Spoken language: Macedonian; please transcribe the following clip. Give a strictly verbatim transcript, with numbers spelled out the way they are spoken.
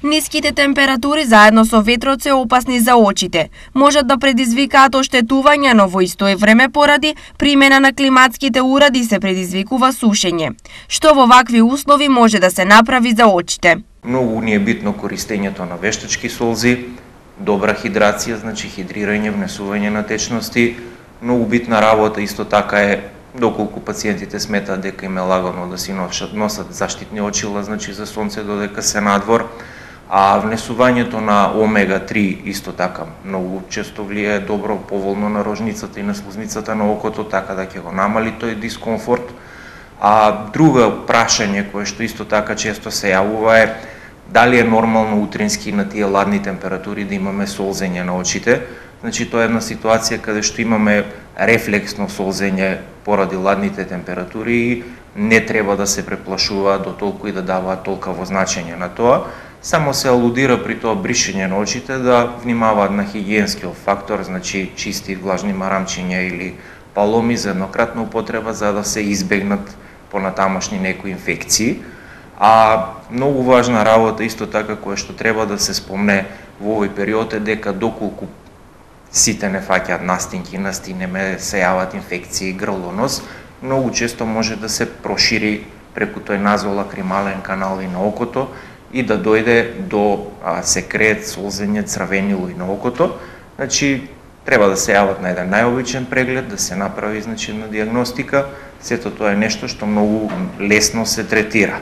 Ниските температури заедно со ветрот се опасни за очите. Можат да предизвикаат оштетување, но во исто време поради примена на климатските уреди се предизвикува сушење. Што во вакви услови може да се направи за очите? Многу ни е битно користењето на вештачки солзи, добра хидрација, значи хидрирање, внесување на течности. Многу битна работа исто така е доколку пациентите сметаат дека им е лагано да си носат, носат заштитни очила, значи за сонце додека се надвор. А внесувањето на омега три исто така многу често влијае добро поволно на рожницата и на слузницата на окото, така да ќе го намали тој дискомфорт. А друго прашање кое што исто така често се јавува е дали е нормално утрински на тие ладни температури да имаме солзење на очите. Значи тоа е една ситуација каде што имаме рефлексно солзење поради ладните температури и не треба да се преплашуваат до толку и да даваат толкаво значење на тоа. Само се алудира при тоа бришење на очите да внимаваат на хигиенскиот фактор, значи чисти влажни марамчиња или паломи за еднократна употреба за да се избегнат понатамошни некои инфекции. А многу важна работа исто така која што треба да се спомне во овој период е дека доколку сите не фаќаат настинки, настинеме, се јават инфекции, грло, нос, многу често може да се прошири преку тој назолакримален канал и на окото и да дојде до а, секрет, солзење, црвенило и на окото. Значи, треба да се јават на еден најобичен преглед, да се направи значи на дијагностика. Сето тоа е нешто што многу лесно се третира.